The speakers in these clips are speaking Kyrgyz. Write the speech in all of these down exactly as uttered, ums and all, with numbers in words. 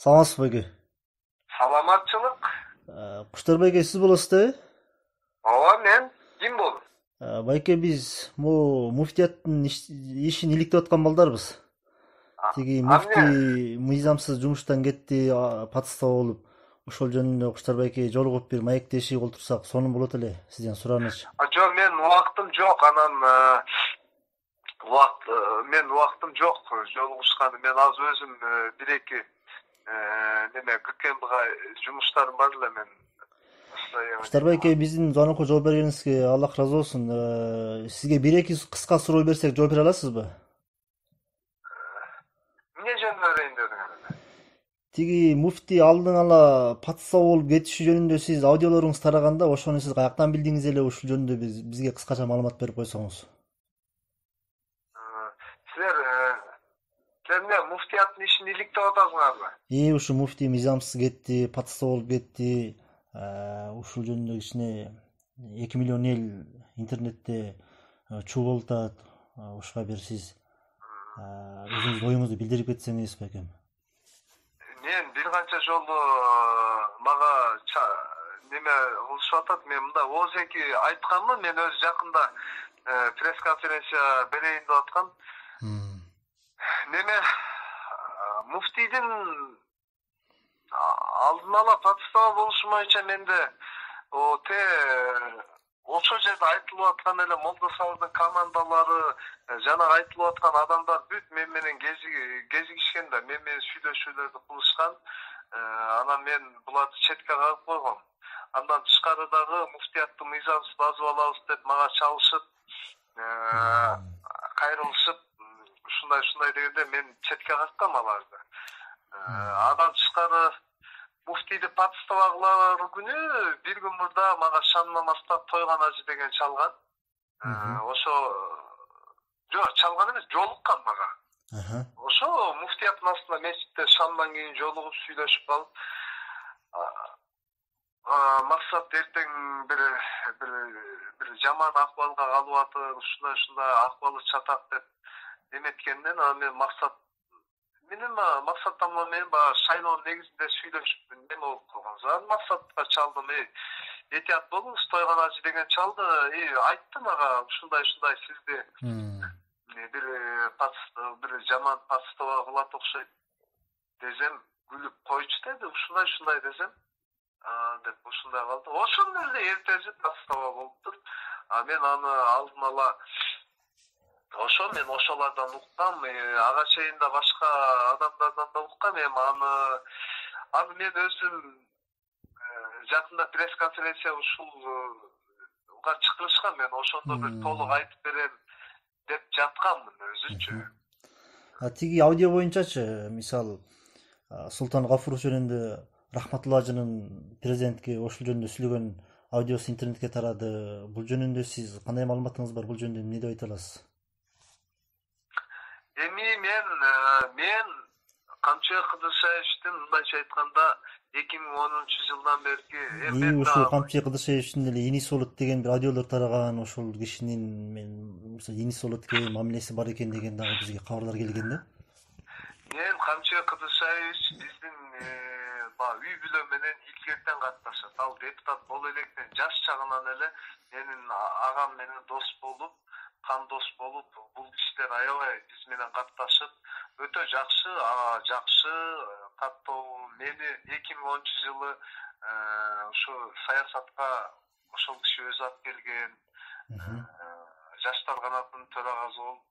Саламатсызбы байке? Саламатчылык. Куштар байке сиз болосуз да? Ооба, мен ким болом? Байке, биз могу муфтияттын ишин иликтеп аткан балдарбыз. Тиги муфтий мыйзамсыз жумуштан кетти, патстоо болуп, ошол жөнүндө Куштар байке жолугуп бир маектешип олтурсак сонун болот эле, сизден сурааныч. Жок, мен убактым жок, анан убакт мен убактым жок жолугушканы. Мен азыр өзүм бир эки неме ККМга жумуштарым бар эле мен. Куштар байке, биздин звонокко жооп бергениңизге Аллах ыраазы болсун. Сизге бир эки кыска суроо берсек жооп бере аласызбы? Эмне жөнүндө берейин дедиңер? Тиги муфтий алдын ала патстоо болуп кетиши жөнүндө сиз аудиолоруңуз тараганда, ошону сиз каяктан билдиңиз эле, ушул жөнүндө биз бизге кыскача маалымат берип койсоңуз. Силер эмне муфтияттын ишин иликтеп атасыңарбы? Э, ушу муфтий мыйзамсыз кетти, патстоо болуп кетти. Ушул жөнүндө кичине эки миллион эл интернетте чуу болуп атат. Ушуга бир сиз өзүңүздүн оюңузду билдирип кетсеңиз байкем. Мен бир канча жолу мага неме кылышып атат. Мен мында ооз-эки айтканмын. Мен өзү жакында пресс-конференция берейин деп аткам. Неме муфтийдин алдын ала патстоо болушу боюнча менде о те ошол жерде айтылып аткан эле молдосалдын командалары жана айтылып аткан адамдар бүт мен менен кезигишкен да, мен менен сүйлөшүүлөрдү кылышкан. Анан мен буларды четке кагып койгом. Андан тышкары дагы муфтияттын мыйзамсыз базып алабыз деп мага чалышып, кайрылышып, ушундай ушундай дегенде мен четке каккам аларды. Андан тышкары муфтийди патстоо күнү бир күн мурда мага шамнамаста Тойгон ажы деген чалган. Ошо жок, чалган эмес, жолуккан мага. Ошо муфтияттын астында мечитте шамдан кийин жолугуп сүйлөшүп калып, максат эртең бир бир бир жаман акыбалга калып атыр, ушундай ушундай акыбалы чатак деп эметкенден анан мен максат менен максат тамла менен баягы шайлоонун негизинде сүйлөшүп неме болуп калганбыз. Анан максатка чалдым, э этият болуңуз, Тойгон ажы деген чалды, э айтты мага ушундай ушундай сизди бир патстоо бир жаман патстоо кылат окшойт десем, күлүп койчу деди, ушундай ушундай десем, деп ушундай калды. Ошондо эле эртеси патстоо болуптур. А мен аны алдын ала ошо мен ошолордон уккам, ага чейин да башка адамдардан да уккам. Эми аны аны мен өзүм жакында пресс-конференция ушулга чакырышкан, мен ошондо бир толук айтып берем деп жатканмын өзүчү. А тиги аудио боюнчачы, мисалы Султан Гафуров жөнүндө Рахматулла ажынын президентке ошол жөнүндө сүйлөгөн аудиосу интернетке тарады. Бул жөнүндө сиз кандай маалыматыңыз бар? Бул жөнүндө эмне деп айта аласыз? Эми мен мен Камчыбек Кыдыршаевичтин мындайча айтканда эки миң онунчу жылдан берки эми ушул Камчыбек Кыдыршаевичтин эле иниси болот деген бир аудиолор тараган, ошол кишинин мен иниси болот экен, мамилеси бар экен деген дагы бизге кабарлар келген да. Мен Камчыбек Кыдыршаевич биздин үй бүлө менен илгертен катташат. Ал депутат боло электен жаш чагынан эле менин агам менен дос болуп, кан дос болуп, бул иштер аябай биз менен катташып, өтө жакшы, жакшы каттоо. Мени эки миң онунчу жылы ушу саясатка ошол киши өзү алып келген. Жаштар канатынын төрагасы болуп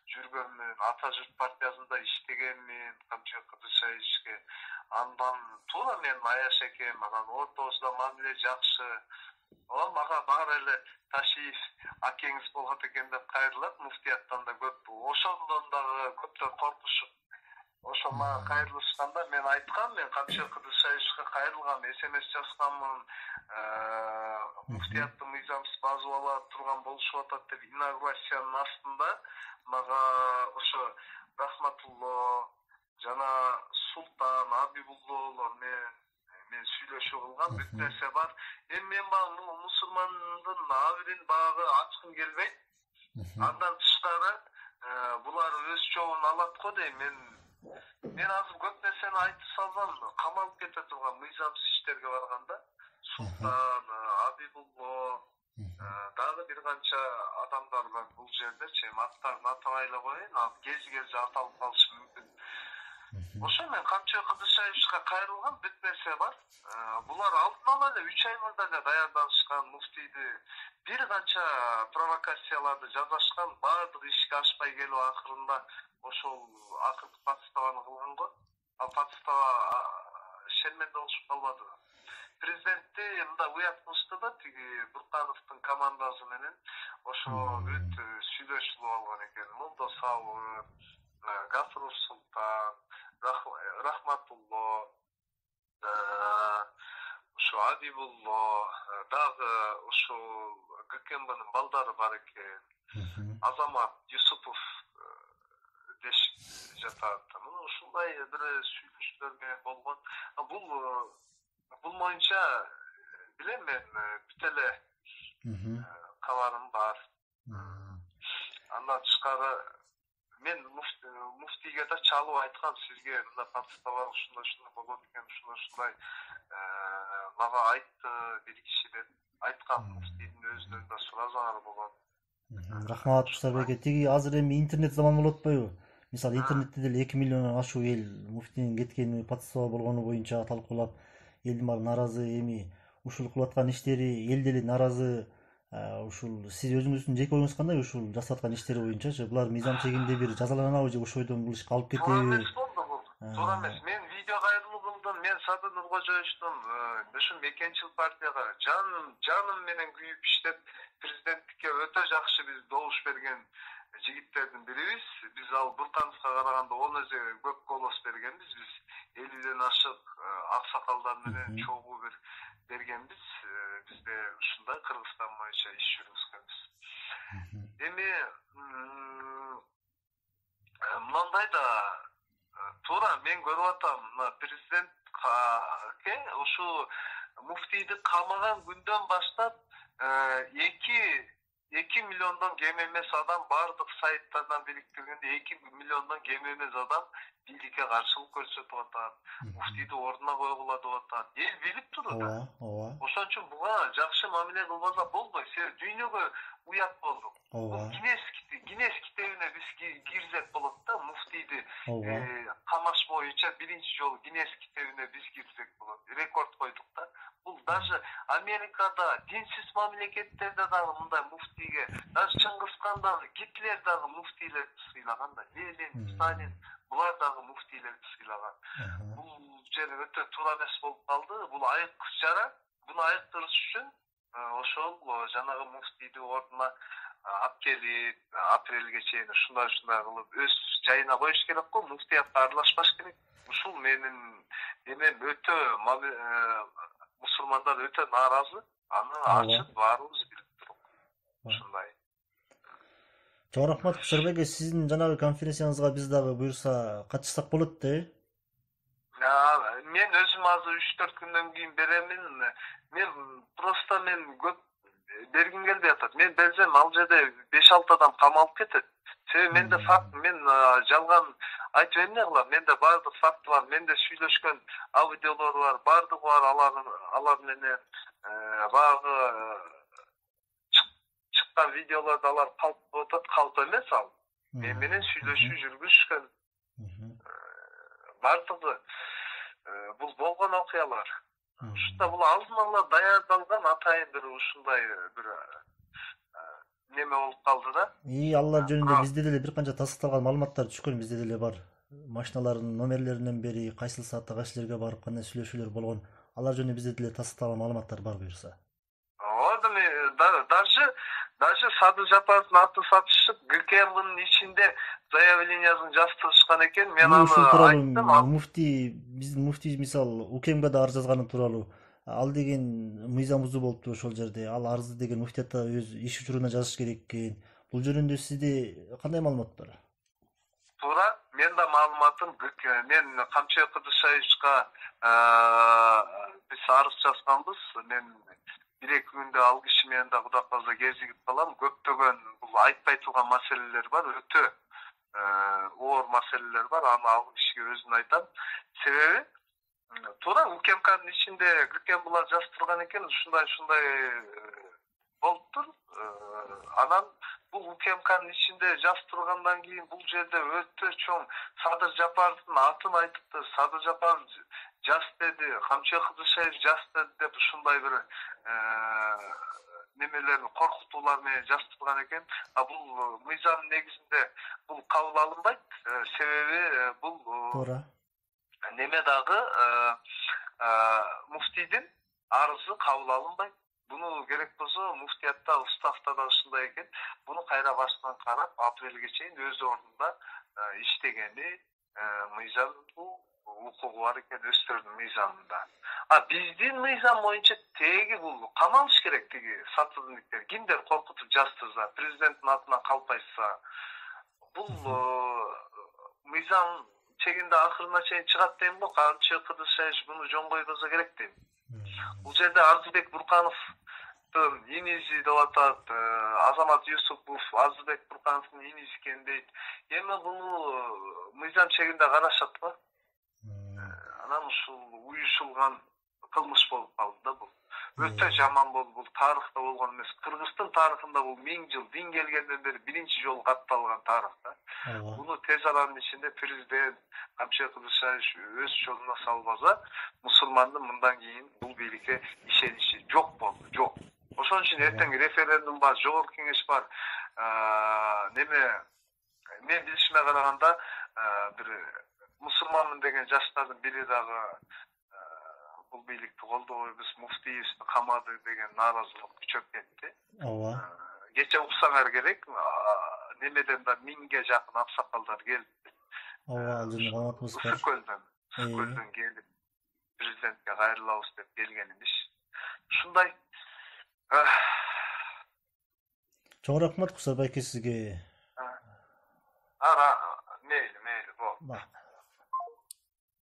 жүргөнмүн, Ата журт партиясында иштегенмин Камчыбек Кыдыршаевичке. Андан туура мен аяш экем, анан ортобузда мамиле жакшы. О, мага баары эле Ташиев акеңиз болот экен деп кайрылат, муфтияттан да көп. Ошондон дагы көптөр коркушуп, ошо мага кайрылышканда мен айткам, мен Камчыбек Кыдыршаевичке кайрылгам, смс жазганмын, муфтияттын мыйзамсыз базып ала турган болушуп атат деп инаугурациянын астында мага ошо Рахматулла жана Султан Абибуллолор менен мен сүйлөшүү кылгам, бүт нерсе бар. Эми мен баягы мусулмандын абырын баягы ачкым келбейт. Андан тышкары булар өз чогун алат го дейм. Мен мен азыр көп нерсени айтып салсам камалып кете турган мыйзамсыз иштерге барганда Султан, Абибулло, дагы бир канча адамдар бар бул жердечи. Эми аттарын атабай эле коеюн, ал кези-кези аталып калышы мүмкүн. Ошо мен Камчы Кыдышаевичке кайрылган бүт нерсе бар. Булар алдын ала эле үч ай мурда эле даярданышкан, муфтийди бир канча провокацияларды жасашкан, баардык ишке ашпай келип акырында ошол акыркы подставаны кылган го. Ал подстава шерменде болушуп калбадыбы? Президентти мындай уят кылышты да, тиги Буркановдун командасы менен ошо бүт сүйлөшүлүп алган экен. Молдо Сабыр, Гафурур Султан, Рахматулло, ошо Абибулло, дагы ошо ГКМБнын балдары бар экен. Азамат Юсупов деш жатат. Мына ушундай бир сүйлөшүүлөр болгон. Бул бул боюнча билем мен бүт эле кабарым бар. Андан тышкары мен муфтийге да чалып айткам, сизге мындай подстава ушундай ушундай болот экен, ушундай ушундай мага айтты бир киши деп айткам. Муфтийдин өзүнөн да суразаңар болот. Рахмат Куштарбек. Тиги азыр эми интернет заман болуп атпайбы? Мисалы интернетте деле эки миллиондон ашуу эл муфтинин кеткени, подстава болгону боюнча талкуулап, элдин баары нааразы. Эми ушул кылып аткан иштери эл деле нааразы. Ушул сиз өзүңүздүн жеке оюңуз кандай ушул жасап аткан иштери боюнчачы? Булар мыйзам чегинде бир жазаланабы же ошойдон бул ишке алып кетеби? Туура эмес болду бул. Туура эмес. Мен видео кайрылуумдун, мен Садыр Нуркожоевичтун ушу мекенчил партияга жаным жаным менен күйүп иштеп, президенттикке өтө жакшы биз добуш берген жигиттердин бирибиз. Биз ал Буркановго караганда он эсе көп голос бергенбиз. Биз элүүдөн ашык аксакалдар менен чогуу бир бергенбиз. Бизде ушундай Кыргызстан боюнча иш жүргүзгөнбүз. Эми мындай да туура мен көрүп атам, президентке ушу муфтийди камаган күндөн баштап эки эки миллиондон кем эмес адам бардык сайттардан бириктиргенде эки миллиондон кем эмес адам бийликке каршылык көрсөтүп атат. Муфтийди ордуна койгула деп атат. Эл билип турат. Ооба, ооба. Ошон үчүн буга жакшы мамиле кылбаса болбойт. Себеби дүйнөгө уят болдук. Ооба. Гинес Гинес китебине биз кирсек болот да, муфтийди камаш боюнча биринчи жолу Гинес китебине биз кирсек болот. Рекорд койдук да. Бул даже Америкада, динсиз мамлекеттерде дагы мындай муфтийге, даже Чыңгызхан дагы, Гитлер дагы муфтийлерди сыйлаган да. Ленин, Сталин булар дагы муфтийлерди сыйлаган. Бул жер өтө туура эмес болуп калды. Бул айык жара. Буну айыктырыш үчүн ошол жанагы муфтийди ордуна алып келип, апрелге чейин ушундай ушундай кылып өз жайына коюш керек го. Муфтиятка аралашпаш керек. Ушул менин эмем өтө мусулмандар өтө нааразы. Аны ачык баарыбыз билип туруп. Ушундай. Чоң рахмат Куштарбек. Сиздин жанагы конференцияңызга биз дагы буюрса катышсак болот да? Мен өзүм азыр үч төрт күндөн кийин беремин. Мен просто мен көп бергим келбей атат. Мен берсем ал жерде беш алты адам камалып кетет. Себеби менде факт, мен жалган айтып эмне кылам? Менде баардык факт бар, менде сүйлөшкөн аудиолор бар, баардыгы бар. Алар алар менен баягы чыккан видеолорду алар калп атат, калп эмес ал. Мен менен сүйлөшүү жүргүзүшкөн. Баардыгы бул болгон окуялар. Ушунда бул алдын ала даярдалган атайын бир ушундай бир неме болуп калды да. И алар жөнүндө бизде деле бир канча тастыкталган маалыматтар түшкөн, бизде деле бар. Машиналардын номерлеринен бери кайсыл саатта кайсы жерге барып кандай сүйлөшүүлөр болгон. Алар жөнүндө бизде деле тастыкталган маалыматтар бар буюрса. Ооба, даже даже Садыр Жапаровдун атын сатышып, ГКМБнын ичинде заявлениясын жаздырышкан экен. Мен аны айттым. Муфтий, биздин муфтий мисал УКМга да арыз жазганы тууралуу. Ал деген мыйзам бузуу болупту ошол жерде. Ал арызды деген муфтиятта өз иш учуруна жазыш керек экен. Бул жөнүндө сизде кандай маалымат бар? Туура, мен да маалыматым, мен Камчы Кыдышаевичка биз арыз жазганбыз. Мен бир эки күндө ал киши менен да Кудай калса кезигип калам. Көптөгөн бул айтпай турган маселелер бар, өтө оор маселелер бар. Аны ал кишиге өзүн айтам. Себеби туура УКМКнын ичинде кирген булар жазып турган экен, ушундай ушундай болуптур. Анан бул УКМКнын ичинде жазып тургандан кийин бул жерде өтө чоң Садыр Жапаровдун атын айтыпты. Садыр Жапаров жаз деди, Камчы Кыдышев жаз деди деп ушундай бир немелерни коркутуулар менен жазып турган экен. А бул мыйзам негизинде бул кабыл алынбайт. Себеби бул туура неме дагы муфтийдин арызы кабыл алынбайт. Буну керек болсо муфтиятта, уставда да ушундай экен. Буну кайра башынан карап, апрелге чейин өз ордунда иштегени мыйзам бул укугу бар экен, өстөрдүн мыйзамында. А биздин мыйзам боюнча теги бул камалыш керек, тиги сатылдыктер. Кимдер коркутуп жаздырса, президенттин атынан калпайса, бул мыйзам чегинде акырына чейин чыгат дейм го. Камчы Кыдышев буну жөн койбосо керек дейм. Бул жерде Арзыбек Буркановдун иниси деп атат, Азамат Юсупов Арзыбек Буркановдун иниси экен дейт. Эми буну мыйзам чегинде карашат го. Анан ушул уюшулган кылмыш болуп калды да бул. Өтө жаман болду. Бул тарыхта болгон эмес. Кыргыздын тарыхында бул миң жыл дин келгенден бери биринчи жолу катталган тарыхта. Буну тез аранын ичинде президент Камчы Кыдышев өз жолуна салбаса, мусулмандын мындан кийин бул бийликке ишеничи жок болду, жок. Ошон үчүн эртең референдум бар, жогорку кеңеш бар. Неме мен билишиме караганда бир мусулманмын деген жаштардын бири дагы бул бийликти колдобойбуз, муфтиевди камады деген нааразылык күчөп кетти. Ооба. Кече уксаңар керек, немеден да миңге жакын аксакалдар келди. Ооба, алжын калматыбыз бар. Үскөлдөн, Үскөлдөн келип президентке кайрылабыз деп келгенибиз. Ушундай. Чоң рахмат Кусар байке сизге. Ара, мейли, мейли, бо.